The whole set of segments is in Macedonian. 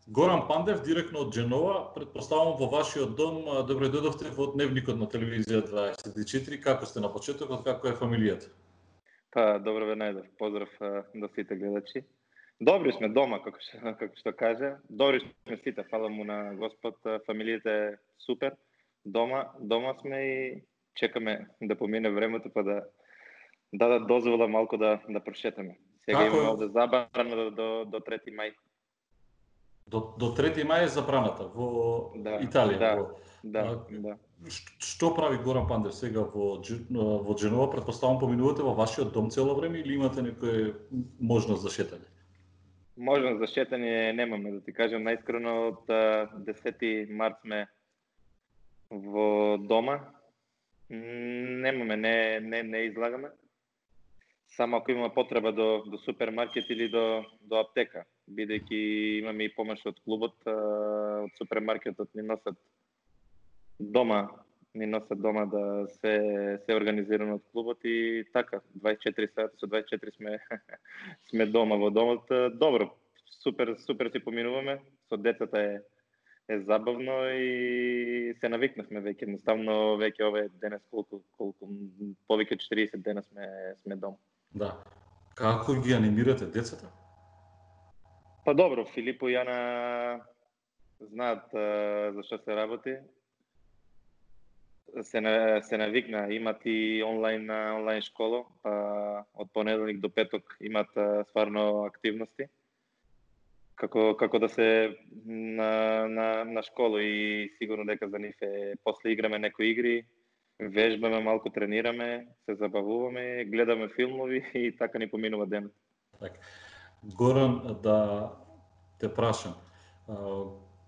Горан Пандев, директно од Дженова, претпоставам во вашиот дом, добре дојдовте во Дневникот на телевизија 24, како сте на почетокот, како е фамилијата? Па, добро ве најдов, поздрав до сите гледачи. Добри сме дома, како што каже. Добри сме сите, фала му на Господ, фамилијата е супер. Дома сме и чекаме да помине времето па да дадат дозвола малку да прошетаме. Сега имаме овде забрана до 3 мај. До 3 мај е забраната во Италија. Да. Што прави Горан Пандев сега во Дженова? Претпоставам поминувате во вашиот дом цело време или имате некоја можност за шетање? Можност за шетање немаме, да ти кажам најискрено, од 10 март сме во дома. Немаме, не излагаме. Само ако има потреба до супермаркет или до аптека, бидејќи имаме и помош од клубот, од супермаркетот ни носат дома да се организирано од клубот и така 24 сати со 24 сме дома во домот. Добро, супер си поминуваме, со децата е забавно и се навикнавме веќе, едноставно веќе овие денес колку повеќе 40 дена сме дома. Да. Како ги анимирате децата? Па добро, Филипо и Јана знаат за што се работи. Се навикна, имат и онлайн школа, па од понеделник до петок имат стварно активности. Како да се на школа и сигурно дека за нив е после играме некои игри, вежбаме малку, тренираме, се забавуваме, гледаме филмови и така ни поминува денот. Така. Горан, да те прашам,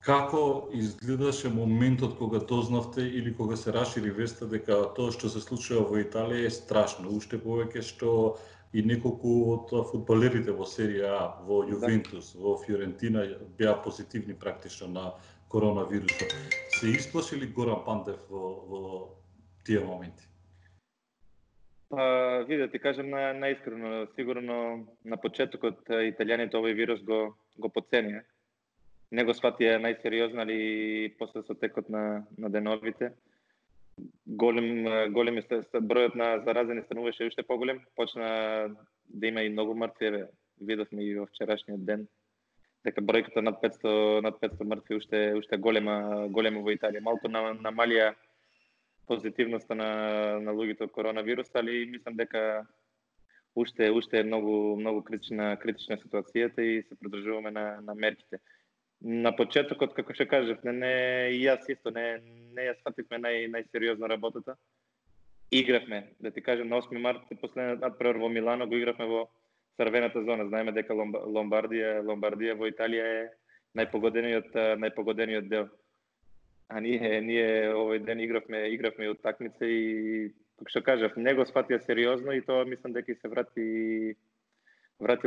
како изгледаше моментот кога дознавте или кога се расшири веста дека тоа што се случува во Италија е страшно, уште повеќе што и неколку од фудбалерите во серија А, во Јувентус, во Фиорентина беа позитивни практично на коронавирусот. Се исплаши ли Горан Пандев во тие моменти? Виде, ти кажам наискрено, сигурно на почетокот италијаните овој вирус го подценија. Не го сватија најсериозно, али после со текот на деновите големи бројот на заразени стануваше уште поголем, почна да има и многу мртви, видовме и во вчерашниот ден дека бројката над 500 мртви уште голема во Италија. Малку намалија позитивноста на луѓето од коронавирус, али мислам дека уште е многу критична ситуацијата и се придржуваме на мерките. На почетокот, како што кажав, и јас исто не ја свативме најсериозно работата. Игравме, да ти кажам, на 8 март последниот надпревар во Милано го игравме во црвената зона. Знаеме дека Ломбардија во Италија е најпогодениот дел. А ние овој ден игравме и утакмица и како што кажав, не го сватија сериозно и тоа мислам дека се врати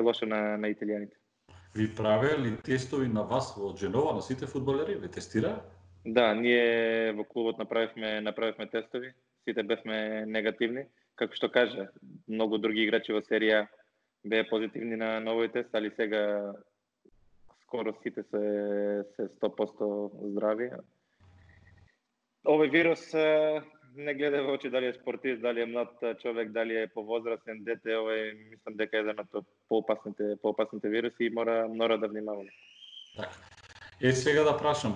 лошо на италијаните. Ви правеа ли тестови на вас во Дженова, на сите фудбалери? Ви тестираа? Да, ние во клубот направивме тестови, сите бевме негативни. Како што кажа, многу други играчи во серија беа позитивни на овој тест, али сега скоро сите се 100% здрави. Овој вирус не гледа во очи дали е спортист, дали е млад човек, дали е повозрастен дете, овој мислам дека е еден од поопасните вируси и мора да внимаваме. Така. Сега да прашам,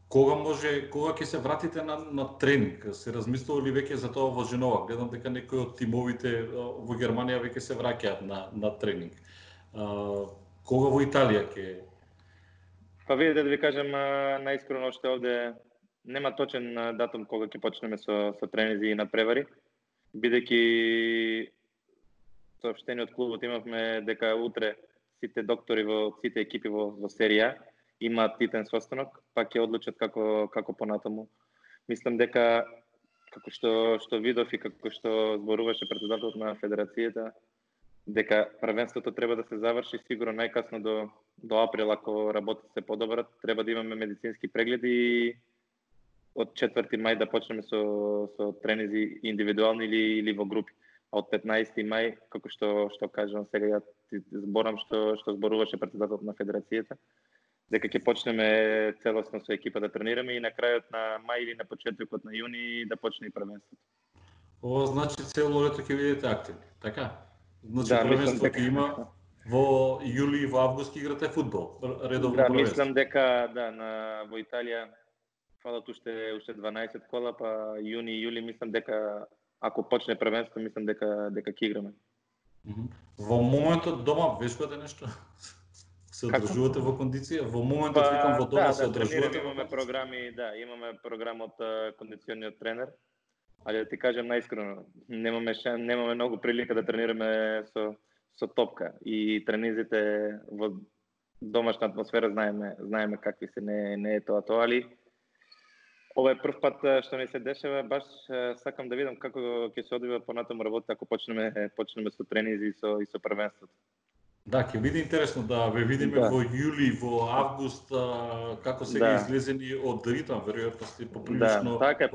кога ќе се вратите на тренинг? Се размислува ли веќе за тоа во Женова? Гледам дека некои од тимовите во Германија веќе се враќаат на тренинг. Кога во Италија ќе? Па видите да ви кажам најискрено, што овде нема точен датум кога ќе почнеме со тренизи и надпревари, бидејќи соопштение од клубот имавме дека утре сите доктори во сите екипи во серија имаат титен состанок, па ќе одлучат како понатаму. Мислам дека како што видов и како што зборуваше претседателот на федерацијата, дека првенството треба да се заврши сигурно најкасно до април, ако работите се подобрат, треба да имаме медицински прегледи и од 4 мај да почнеме со тренизи индивидуални или во групи. А од 15 мај, како што кажам сега, ја зборам што зборуваше претседателот на федерацијата, дека ќе почнеме целосно со екипа да тренираме и на крајот на мај или на почетокот на јуни да почне и првенството. Ова значи цело лето ќе бидете активни, така? Значи Да, првенство ќе има во јули и во август ќе играте фудбал, редовно Да, првенство. мислам дека во Италија фалат уште 12 кола, па јуни и јули мислам дека ако почне првенство мислам дека ќе играме. Во моментот дома вешбате нешто? Се одржувате во кондиција? Во моментот викам во дома се одржувате во имаме програми, имаме програм од кондициониот тренер. Ali да ти кажем најискрено, немаме многу прилика да тренираме со топка и тренизите во домашна атмосфера знаеме какви се, не е тоа, али ова е прв пат што не се дешава, баш сакам да видам како ќе се одвива понатаму работа ако почнеме со тренизи и со првенството. Да, ќе биде интересно да ве видиме во јули, во август, како сега излезени од ритам, веројатно сте поприлично. Да, така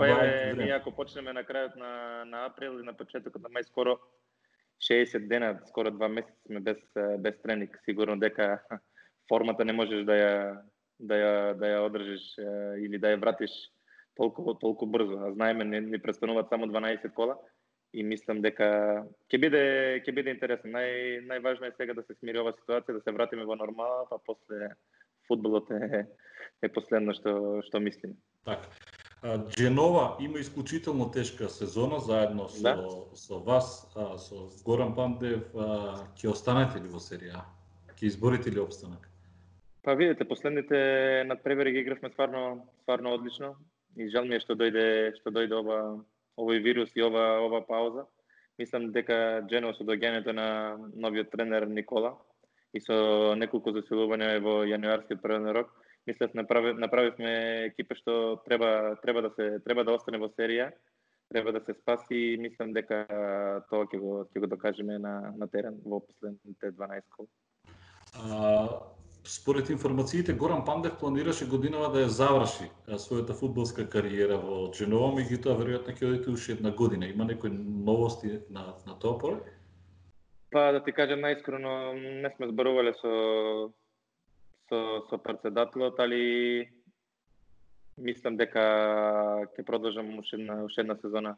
ние ако почнеме на крајот на април и на почетокот на мај, скоро 60 дена, скоро 2 месеца сме без тренинг, сигурно дека формата не можеш да ја одржиш или да ја вратиш толку брзо. А знаеме ни престануваат само 12 кола. И мислам дека ќе биде интересно. Најважно е сега да се смири ова ситуација, да се вратиме во нормала, па после фудбалот е последно што мислиме. Така. Дженова има исклучително тешка сезона заедно со вас, со Горан Пандев, ќе останете ли во серија? Ќе изборите ли опстанок? Па видите, последните надпревари ги игравме стварно одлично и жал ми е што дојде овој вирус и ова пауза. Мислам дека Дженова со доаѓањето на новиот тренер Никола и со неколку заселувања во јануарскиот првен рок, мислам направивме екипа што треба да остане во серија, треба да се спаси и мислам дека тоа ќе го докажеме на терен во последните 12 кола. Според информациите, Горан Пандев планираше годинава да ја заврши својата фудбалска кариера во Дженова, меѓутоа веројатно ќе одите уште една година. Има некои новости на тоа поле? Па да ти кажам најискрено, не сме зборувале со претседателот, али мислам дека ќе продолжам уште една сезона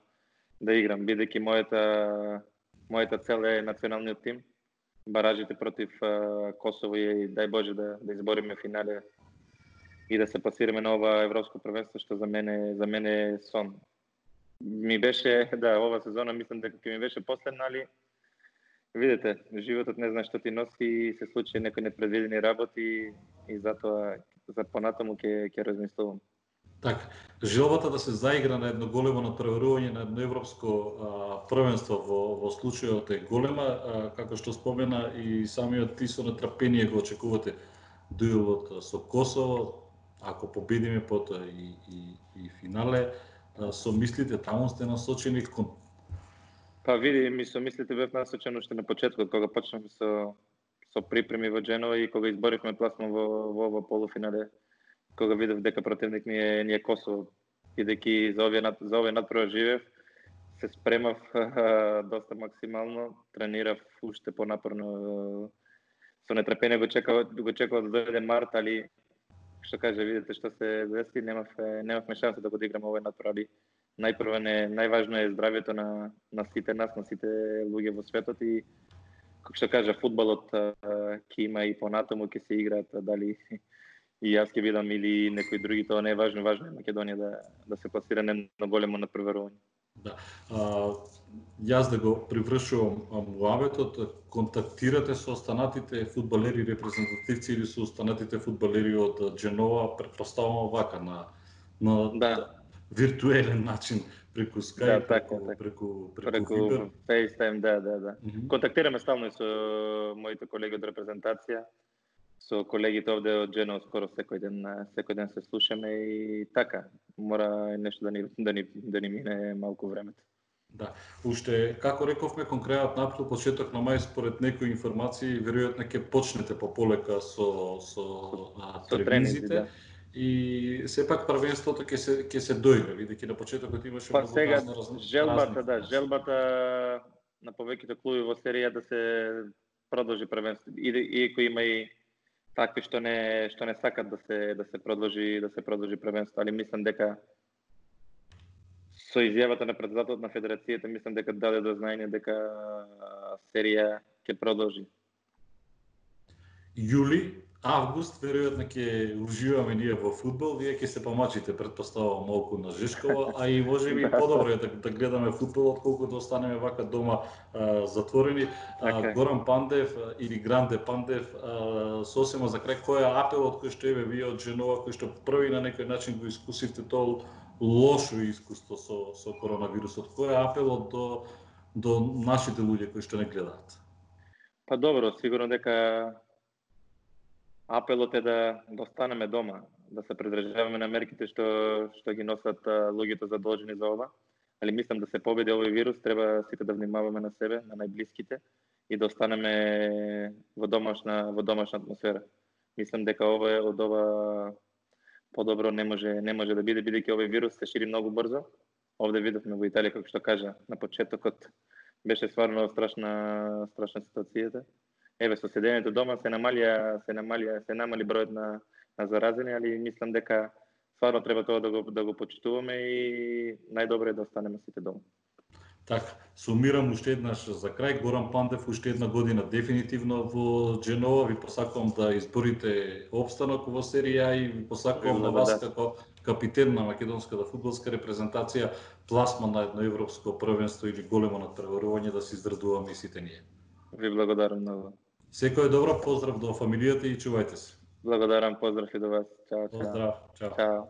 да играм, бидејќи мојата цел е националниот тим. Баражите против Косово и дај Боже да избориме финале и да се пласираме на ова европско првенство, што за мене е сон. Ми беше, ова сезона мислам дека ќе ми беше последна, али видите, животот не знае што ти носи и се случи некои непредвидени работи и затоа за понатаму ќе размислувам. Така, желбата да се заигра на едно големо натпреварување на едно европско првенство во случајот е голема, како што спомена и самиот ти со нетрпение го очекувате дуелот со Косово, ако победиме потоа и финале, со мислите таму сте насочени кон... Па види, со мислите бев насочен уште на почетокот, кога почнавме со припреми во Дженова и кога изборивме пласман во ова полуфинале, кога видев дека противник ни е Косово, бидејќи за овој надпревар живеев, се спремав доста максимално, тренирав уште понапорно, со нетрпение го чекав да дојде март, али што каже, видите што се деси, немавме шанса да го играме овој надпревар. Најважно е здравјето на сите нас, на сите луѓе во светот и како што кажа, фудбалот ќе има и понатаму ќе се играат, дали и јас ќе видам или некои други, тоа не е важно, важно е Македонија да се пласира на големо надпреварување. Да. Јас да го привршувам муабетот, контактирате со останатите фудбалери репрезентативци или со останатите фудбалери од Дженова, претпоставувам вака на виртуелен начин преку Skype, преку Viber. FaceTime, да. Контактираме стално и со моите колеги од репрезентација, со колегите овде од Дженова, скоро секој ден се слушаме и така, мора нешто да ни мине малку времето. Да, уште, како рековме, кон крајот на април, почеток на мај, според некои информации, веројатно ќе почнете пополека со тренизите. И сепак првенството ќе се доигра, видејќи на почетокот имаше многу разни желбата на повеќето клуби во серија да се продолжи првенството. Иако има и такви што не сакат да се продолжи првенство, али мислам дека со изјавата на претседателот на федерацијата мислам дека даде до знаење дека серија ќе продолжи. Јули, август, веројатно ќе уживаме ние во фудбал, вие ќе се помачите, претпоставувам, малку на Жишкова, а и можеби подобро е да гледаме фудбал отколку да останеме вака дома затворени. Горан Пандев или Гранде Пандев, сосема за крај, кој е апелот кој што еве вие од Женова, кој што први на некој начин го искусивте тоа лошо искуство со коронавирусот, кој е апелот до нашите луѓе кои што не гледаат? Па добро, сигурно дека апелот е да останеме дома, да се придржаваме на мерките што ги носат луѓето задолжени за ова. Али мислам да се победи овој вирус, треба сите да внимаваме на себе, на најблиските и да останеме во домашна атмосфера. Мислам дека од ова подобро не може да биде, бидејќи овој вирус се шири многу брзо. Овде видовме во Италија, како што кажа, на почетокот беше стварно страшна ситуацијата. Еве, со седењето дома се намали бројот на заразени, али мислам дека стварно треба тоа да го почитуваме и најдобро е да останеме сите дома. Така, сумирам уште еднаш за крај, Горан Пандев уште една година дефинитивно во Дженова, ви посакувам да изборите опстанок во серија и ви посакувам на вас како капитен на македонската фудбалска репрезентација пласман на едно европско првенство или големо натпреварување да се израдуваме и сите ние. Ви благодарам многу. Секој добро, поздрав до фамилијата и чувајте се. Благодарам, поздрав и до вас. Чао, чао. Поздрав, чао. Чао.